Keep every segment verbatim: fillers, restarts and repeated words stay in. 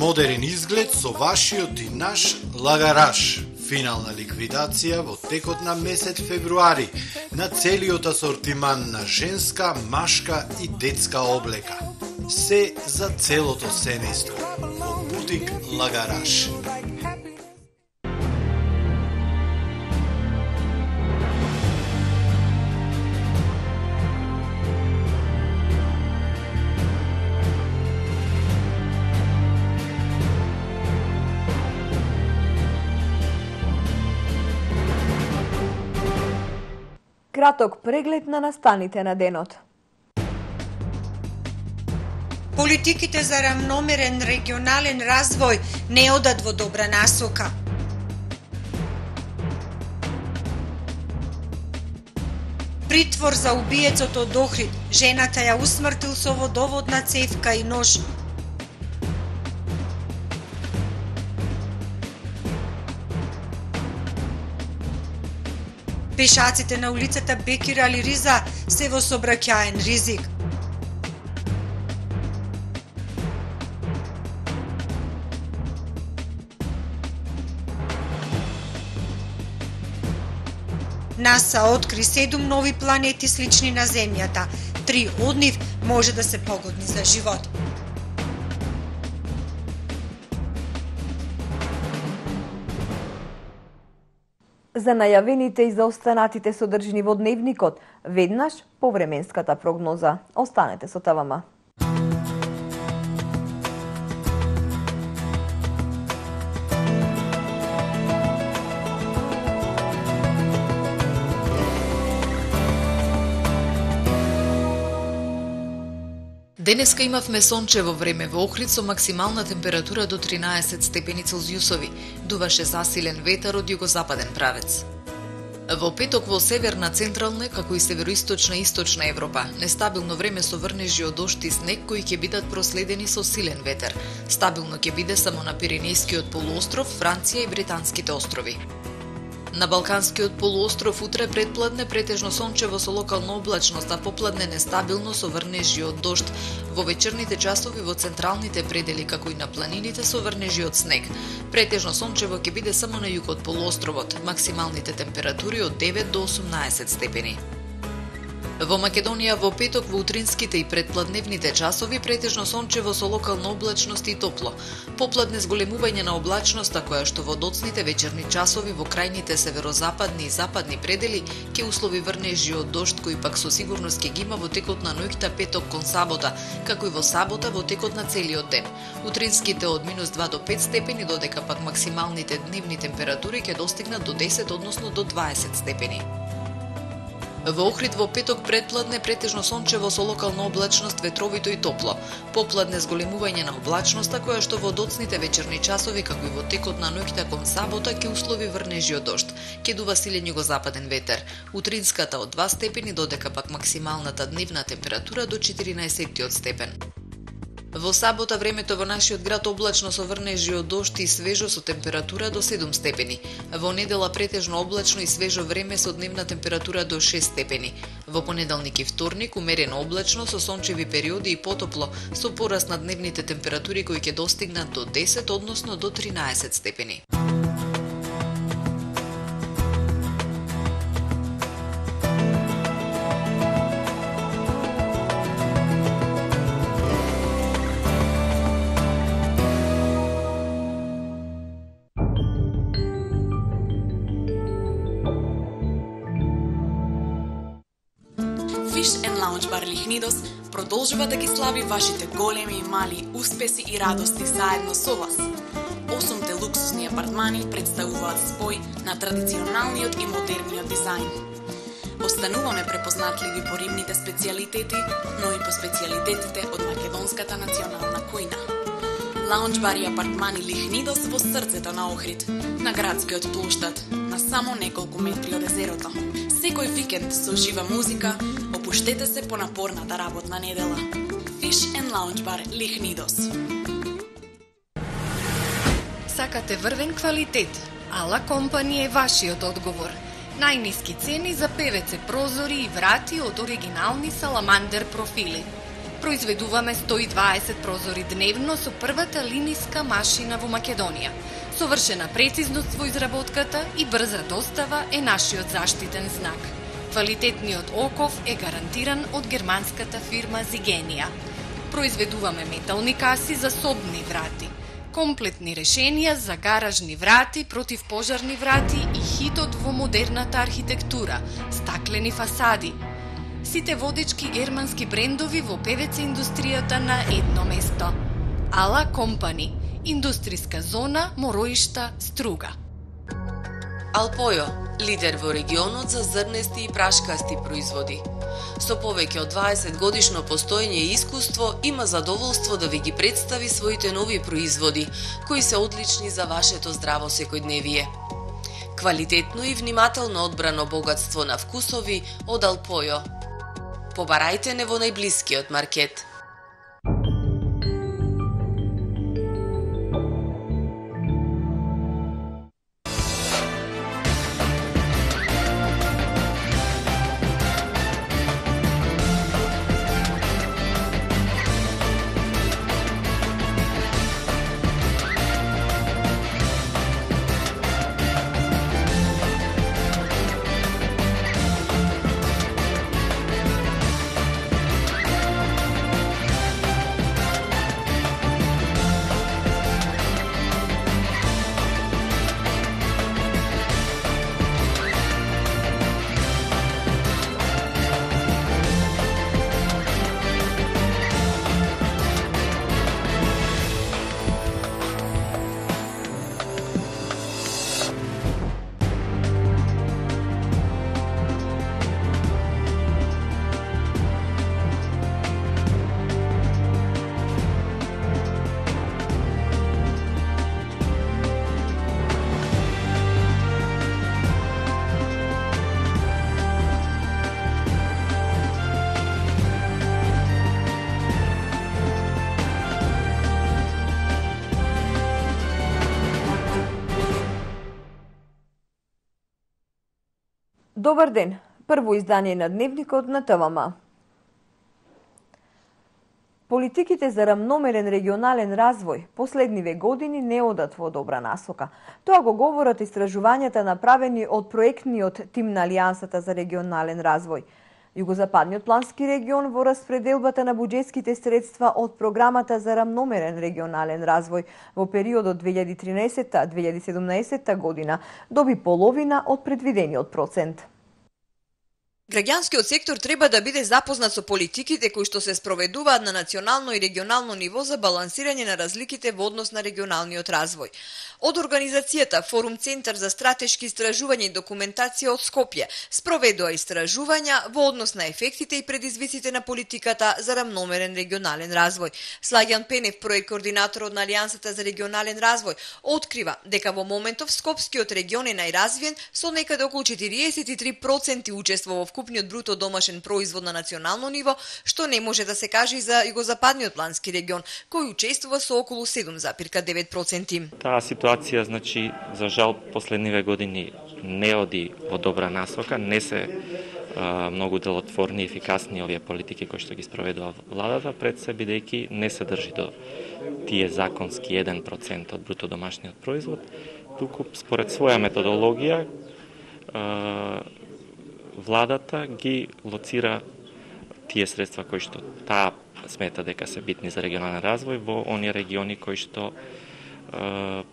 Модерен изглед со вашиот и наш лагараш. Финална ликвидација во текот на месец февруари на целиот асортиман на женска, машка и детска облека. Се за целото семејство во бутик Лагараш. Краток преглед на настаните на денот. Политиките за рамномерен регионален развој не одат во добра насока. Притвор за убиецот од Охрид. Жената ја усмртил со водоводна цевка и нож. Пешаците на улицата Бекир Али Риза се во сообраќаен ризик. НАСА откри седум нови планети слични на Земјата. Три од нив може да се погодни за живот. За најавените и за останатите содржини во дневникот, веднаш по временската прогноза. Останете со ТВМ. Денеска имавме сончево време во Охрид со максимална температура до тринаесет степени Целзиусови. Дуваше засилен ветар од југозападен правец. Во петок во северна, централна, како и североисточна и источна Европа, нестабилно време со врнежи од дожд и снег кои ќе бидат проследени со силен ветер. Стабилно ќе биде само на Пиренејскиот полуостров, Франција и Британските острови. На Балканскиот полуостров утре предпладне претежно сончево со локална облачност, а попладне нестабилно со врнежи од дожд. Во вечерните часови во централните предели, како и на планините со врнежи од снег. Претежно сончево ќе биде само на југот полуостровот, максималните температури од девет до осумнаесет степени. Во Македонија во петок во утринските и предпладневните часови претежно сончево со локална облачност и топло. Попладне зголемување на облачноста која што во доцните вечерни часови во крајните северозападни и западни предели ќе услови врнежи од дожд кои пак со сигурност ќе ги има во текот на ноќта петок кон сабота, како и во сабота во текот на целиот ден. Утринските од минус два до пет степени, додека пак максималните дневни температури ќе достигнат до десет, односно до дваесет степени. Во Охрид во петок предпладне претежно сончево со локална облачност, ветровито и топло. Попладне зголемување на облачноста која што во доцните вечерни часови, како и во текот на ноќта кон сабота ќе услови врнежи од дожд. Ќе дува силен југозападен ветер. Утринската од два степени, додека пак максималната дневна температура до четиринаесет степен. Во сабота времето во нашиот град облачно со врнежи од дожд и свежо со температура до седум степени. Во недела претежно облачно и свежо време со дневна температура до шест степени. Во понеделник и вторник умерено облачно со сончеви периоди и потопло, со пораст на дневните температури кои ќе достигнат до десет, односно до тринаесет степени. Fish and Lounge Bar Лихнидос продолжува да ги слави вашите големи и мали успеси и радости заедно со вас. Осумте луксусни апартмани представуваат спој на традиционалниот и модерниот дизајн. Остануваме препознатливи по рибните специјалитети, но и по специјалитетите од македонската национална кујна. Лаунџ бар и апартмани Лихнидос во срцето на Охрид, на градскиот плоштад, на само неколку метри од езерото. Секој викенд со жива музика, опуштете се по напорната работна недела. Fish and Lounge Bar Лихнидос. Сакате врвен квалитет? Ала Компани е вашиот одговор. Најниски цени за пе ве це прозори и врати од оригинални саламандер профили. Произведуваме сто и дваесет прозори дневно со првата линиска машина во Македонија. Совршена прецизност во изработката и брза достава е нашиот заштитен знак. Квалитетниот оков е гарантиран од германската фирма Зигенија. Произведуваме метални каси за собни врати, комплетни решенија за гаражни врати, противпожарни врати и хитот во модерната архитектура, стаклени фасади. Сите водечки германски брендови во ПВЦ индустријата на едно место. Ала Компани, индустријска зона Мороишта, Струга. Алпојо, лидер во регионот за зрнести и прашкасти производи. Со повеќе од дваесет годишно постоење и искуство, има задоволство да ви ги представи своите нови производи, кои се одлични за вашето здраво секојдневие. Квалитетно и внимателно одбрано богатство на вкусови од Алпојо. Побарајте не во најблискиот маркет. Добар ден! Прво издание на Дневникот на ТВМ. Политиките за рамномерен регионален развој последниве години не одат во добра насока. Тоа го говорат истражувањата направени од проектниот тим на Алијансата за регионален развој. Југозападниот плански регион во распределбата на буџетските средства од програмата за рамномерен регионален развој во периодот две илјади и тринаесетта до две илјади и седумнаесетта година доби половина од предвидениот процент. Граѓанскиот сектор треба да биде запознат со политиките кои што се спроведуваат на национално и регионално ниво за балансирање на разликите во однос на регионалниот развој. Од организацијата Форум Центар за стратешки истражувања и документација од Скопје спроведува истражувања во однос на ефектите и предизвиците на политиката за рамномерен регионален развој. Слагјан Пенев, проект координатор од Алијансата за регионален развој, открива дека во моментов Скопскиот регион е најразвиен со некаде околу четириесет и три проценти учество во вкупниот бруто домашен производ на национално ниво, што не може да се каже и за Југозападниот плански регион, кој учествува со околу седум зарез девет проценти. Таа ситуација, значи, за жал, последниве години не оди во добра насока, не се а, многу делотворни и ефикасни овие политики кои што ги спроведува владата пред се, бидејќи не се држи до тие законски еден процент од бруто домашниот производ, туку според своја методологија а, владата ги лоцира тие средства кои што таа смета дека се битни за регионален развој во оние региони кои што е,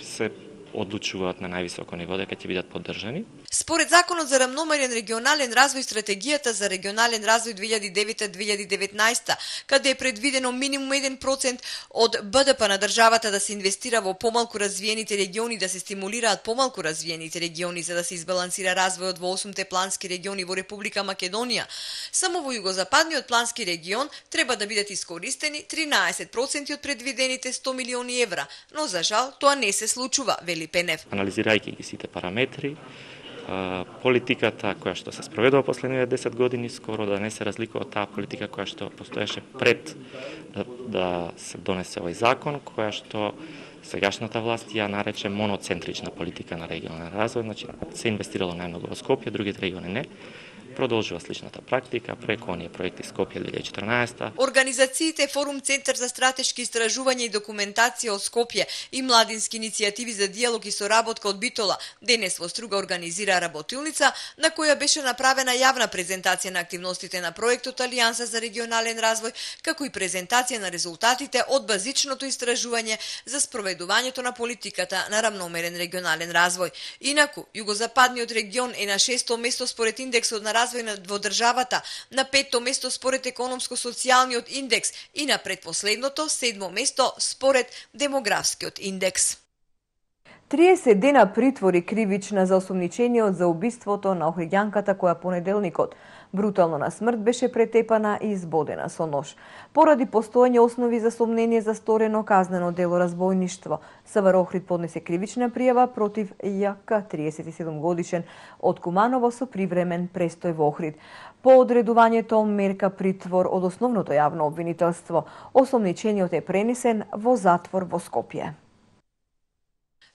се одлучуваат на највисоко ниво дека ќе бидат поддржани. Според Законот за рамномерен регионален развој, стратегијата за регионален развој две илјади и девета до две илјади и деветнаесета, каде е предвидено минимум еден процент од БДП на државата да се инвестира во помалку развиените региони, да се стимулираат помалку развиените региони за да се избалансира развојот во осумте плански региони во Република Македонија. Само во Југозападниот плански регион треба да бидат искористени тринаесет проценти од предвидените сто милиони евра, но за жал тоа не се случува, вели Пенев. Анализирајќи ги сите параметри, политиката која што се спроведува последниве десет години скоро да не се разликува од таа политика која што постоеше пред да, да се донесе овој закон, која што сегашната власт ја нарече моноцентрична политика на регионален развој, значи се инвестирало најмногу во Скопје, другите региони не. продолжува сличната практика преку оние проекти Скопје две илјади и четрнаесета. Организациите Форум Центар за стратешки истражувања и документација од Скопје и младински иницијативи за дијалог и соработка од Битола денес во Струга организира работилница на која беше направена јавна презентација на активностите на проектот Алијанса за регионален развој, како и презентација на резултатите од базичното истражување за спроведувањето на политиката на рамномерен регионален развој. Инаку, југозападниот регион е на шесто место според индексот на развој во државата, на петто место според економско-социјалниот индекс и на предпоследното седмо место според демографскиот индекс. триесет дена притвор и кривична за осомничениот за убиството на охриѓанката која понеделникот брутално на смрт беше претепана и избодена со нож. Поради постоење основи за сомнение за сторено казнено дело разбойништво, СВР Охрид поднесе кривична пријава против Ја.К. триесет и седум годишен од Куманово со привремен престој во Охрид. По одредувањето мерка притвор од основното јавно обвинителство, осомничениот е пренесен во затвор во Скопје.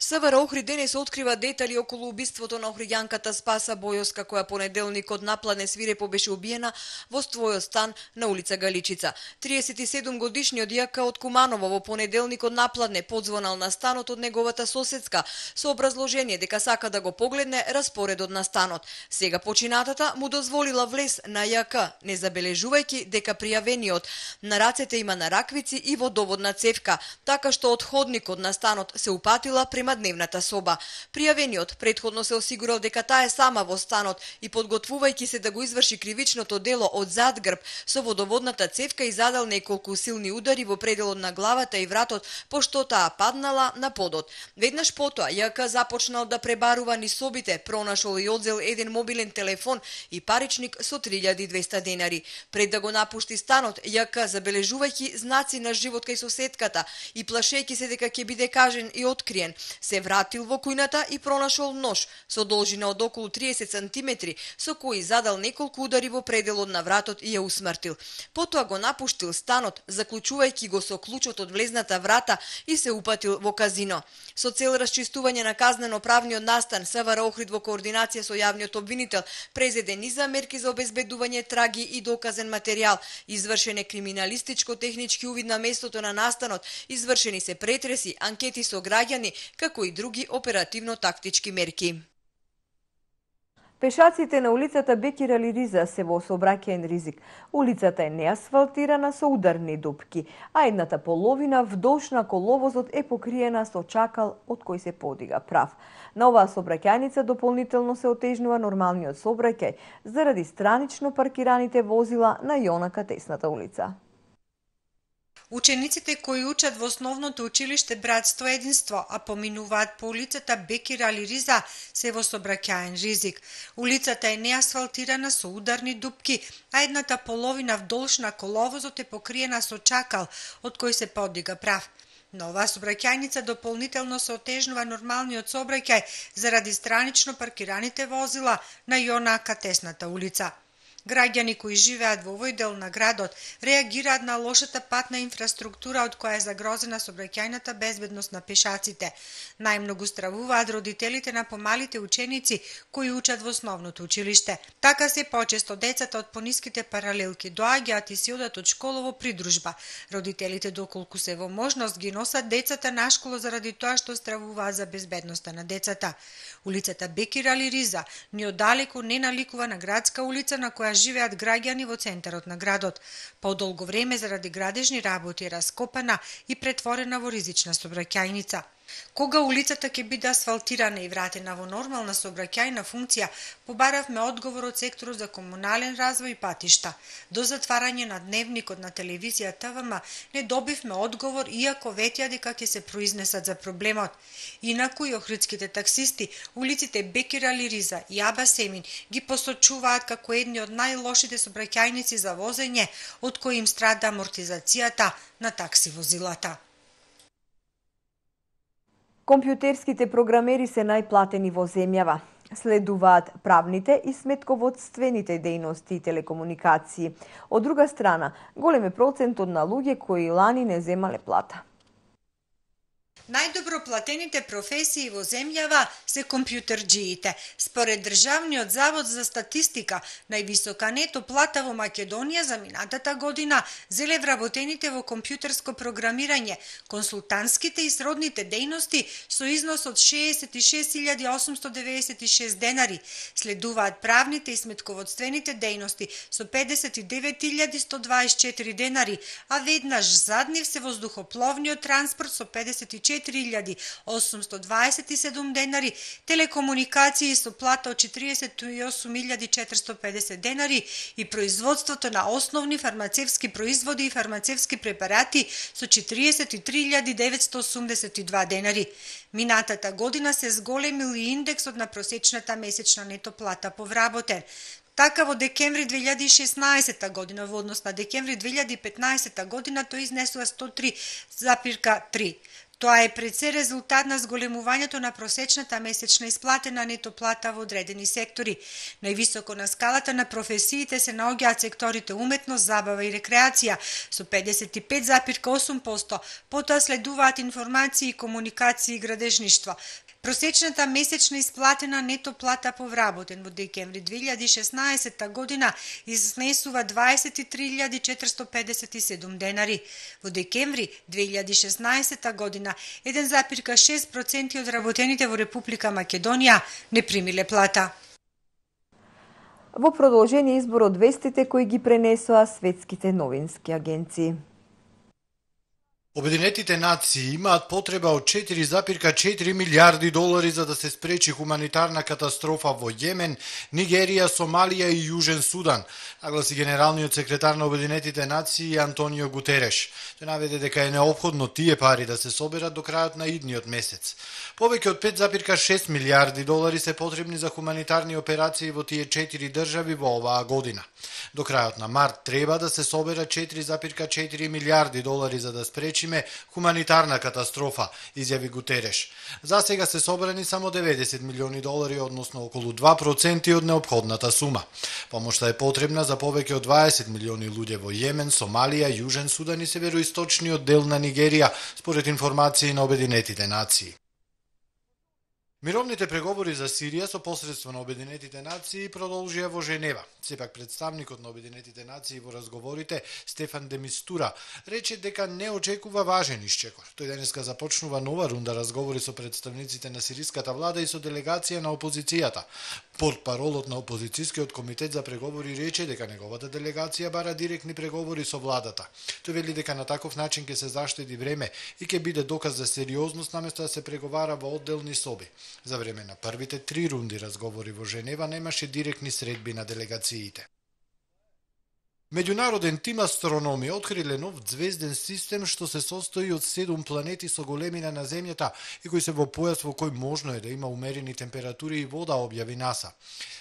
СВР Охрид денес открива детали околу убиството на охриѓанката Спаса Бојоска, која понеделникот напладне свирепо беше убиена во својот стан на улица Галичица. триесет и седум годишниот Ја.К. од Куманово во понеделникот напладне подзвонал на станот од неговата соседска со образложение дека сака да го погледне распоредот на станот. Сега починатата му дозволила влез на Ја.К., не забележувајќи дека пријавениот на рацете има нараквици и водоводна цевка, така што од ходникот на станот се упатила према дневната соба. Пријавениот претходно се осигурал дека таа е сама во станот и подготвувајќи се да го изврши кривичното дело од зад грб со водоводната цевка и задал неколку силни удари во пределот на главата и вратот, пошто таа паднала на подот. Веднаш потоа Ја.К. започнал да пребарува низ собите, пронашол и одзел еден мобилен телефон и паричник со три илјади и двесте денари. Пред да го напушти станот, Ја.К. забележувајќи знаци на живот кај соседката и плашејќи се дека ќе биде кажен и откриен, се вратил во кујната и пронашол нож со должина од околу триесет сантиметри, со кој задал неколку удари во пределот на вратот и ја усмртил. Потоа го напуштил станот, заклучувајќи го со клучот од влезната врата и се упатил во казино. Со цел расчистување на казнено-правниот настан, СВР Охрид во координација со јавниот обвинител презеде низа мерки за обезбедување траги и доказен материјал, извршен е криминалистичко-технички увид на местото на настанот, извршени се претреси, анкети со граѓани, како и други оперативно-тактички мерки. Пешаците на улицата Бекир Али Риза се во сообраќајен ризик. Улицата е неасфалтирана со ударни дупки, а едната половина вдолж на коловозот е покриена со чакал од кој се подига прав. На оваа сообраќајница дополнително се отежнува нормалниот сообраќај заради странично паркираните возила на Јонака Тесната улица. Учениците кои учат во основното училиште Братство и единство, а поминуваат по улицата Бекир Али Риза, се во сообраќајен ризик. Улицата е неасфалтирана со ударни дупки, а едната половина вдолж на коловозот е покриена со чакал, од кој се подига прав. На оваа сообраќајница дополнително се отежнува нормалниот сообраќај заради странично паркираните возила на Јонака Тесната улица. Граѓани кои живеат во овој дел на градот реагираат на лошата патна инфраструктура од која е загрозена сообраќајната безбедност на пешаците. Најмногу стравуваат родителите на помалите ученици кои учат во основното училиште. Така се почесто децата од пониските паралелки доаѓаат и си одат од школа во придружба. Родителите доколку се во можност ги носат децата на школа заради тоа што стравуваат за безбедноста на децата. Улицата Бекир Али Риза ни оддалеку не наликува на градска улица на која живеат граѓани во центарот на градот. По долго време заради градежни работи е раскопана и претворена во ризична сообраќајница. Кога улицата ќе биде асфалтирана и вратена во нормална сообраќајна функција, побаравме одговор од секторот за комунален развој и патишта. До затварање на дневникот на телевизија ТВМ не добивме одговор, иако ветија дека ќе се произнесат за проблемот. Инаку и охридските таксисти улиците Бекир Али Риза и Аба Семин ги посочуваат како едни од најлошите сообраќајници за возење, од кои им страда амортизацијата на такси возилата. Компјутерските програмери се најплатени во земјава. Следуваат правните и сметководствените дејности и телекомуникации. Од друга страна, голем е процентот на луѓе кои лани не земале плата. Најдобро платените професии во земјава се компјутерџиите. Според Државниот завод за статистика, највисока нето плата во Македонија за минатата година зеле вработените во компјутерско програмирање, консултантските и сродните дејности со износ од шеесет и шест илјади осумсто деведесет и шест денари. Следуваат правните и сметководствените дејности со педесет и девет илјади сто дваесет и четири денари, а веднаш зад нив се воздухопловниот транспорт со педесет и четири илјади осумсто дваесет и седум денари, телекомуникации со плата од четиридесет и осум илјади четиристо педесет денари и производството на основни фармацевски производи и фармацевски препарати со четиридесет и три илјади деветсто осумдесет и два денари. Минатата година се зголемил и индексот на просечната месечна нето плата по вработен. Така во декември две илјади и шеснаесетта година во однос на декември две илјади и петнаесетта година тој изнесува сто три запирка три. Тоа е пред се резултат на зголемувањето на просечната месечна исплатена нето плата во одредени сектори. Највисоко на скалата на професиите се наоѓаат секторите уметност, забава и рекреација со педесет и пет запирка осум проценти, потоа следуваат информации и комуникации и градежништво. Просечната месечна исплатена нето плата по вработен во декември две илјади и шеснаесетта година изнесува дваесет и три илјади четиристо педесет и седум денари. Во декември две илјади и шеснаесетта година еден запирка шест проценти од работените во Република Македонија не примиле плата. Во продолжение избор од вестите кои ги пренесоа светските новински агенции. Обединетите нации имаат потреба од четири запирка четири милиарди долари за да се спречи хуманитарна катастрофа во Јемен, Нигерија, Сомалија и Јужен Судан, нагласи генералниот секретар на Обединетите нации Антонио Гутереш. Тој наведе дека е неопходно тие пари да се соберат до крајот на идниот месец. Повеќе од пет запирка шест милиарди долари се потребни за хуманитарни операции во тие четири држави во оваа година. До крајот на март треба да се соберат четири запирка четири милиарди долари за да спречиме хуманитарна катастрофа, изјави Гутереш. За сега се собрани само деветдесет милиони долари, односно околу два проценти од неопходната сума. Помошта е потребна за повеќе од дваесет милиони луѓе во Јемен, Сомалија, Јужен Судан и североисточниот дел на Нигерија, според информации на Обединетите нации. Мировните преговори за Сирија со посредство на Обединетите нации продолжија во Женева. Сепак представникот на Обединетите нации во разговорите Стефан де Мистура рече дека не очекува важен исчекор. Тој денеска започнува нова рунда разговори со представниците на сириската влада и со делегација на опозицијата. Портпаролот на опозицијскиот комитет за преговори рече дека неговата делегација бара директни преговори со владата. Тој вели дека на таков начин ќе се заштеди време и ќе биде доказ за сериозност наместо да се преговара во одделни соби. За време на првите три рунди разговори во Женева немаше директни средби на делегациите. Меѓународен тим астрономи откриле нов ѕвезден систем што се состои од седум планети со големина на Земјата и кои се во појас во кој можно е да има умерени температури и вода, објави НАСА.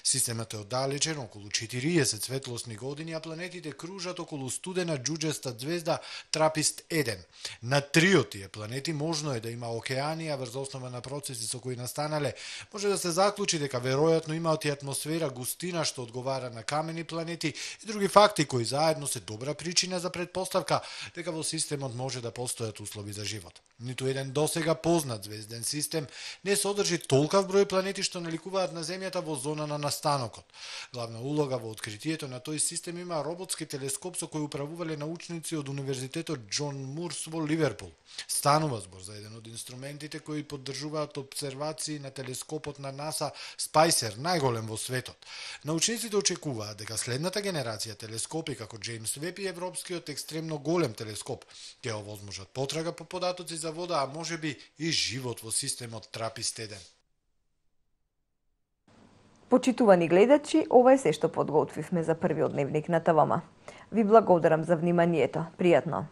Системот е оддалечен околу четириесет светлосни години, а планетите кружат околу студена џуџеста ѕвезда Трапист еден. На три од тие планети можно е да има океани, а врз основа на процеси со кои настанале, може да се заклучи дека веројатно имаат и атмосфера густина што одговара на камени планети и други факти кои заедно се добра причина за предпоставка дека во системот може да постојат услови за живот. Ниту еден досега познат звезден систем не содржи толкав број планети што наликуваат на Земјата во зона на настанокот. Главна улога во откритието на тој систем има роботски телескоп со кој управувале научници од Универзитетот Џон Мурс во Ливерпул. Станува збор за еден од инструментите кои поддржуваат обсервации на телескопот на НАСА Спајсер, најголем во светот. Научниците очекуваат дека следната генерација телескопи како Джеймс Веб и европскиот екстремно голем телескоп ќе овозможат потрага по податоци за вода, а можеби и живот во системот Трапист еден. Почитувани гледачи, ова е се што подготвивме за првиот дневник на ТВМ. Ви благодарам за вниманието. Пријатно!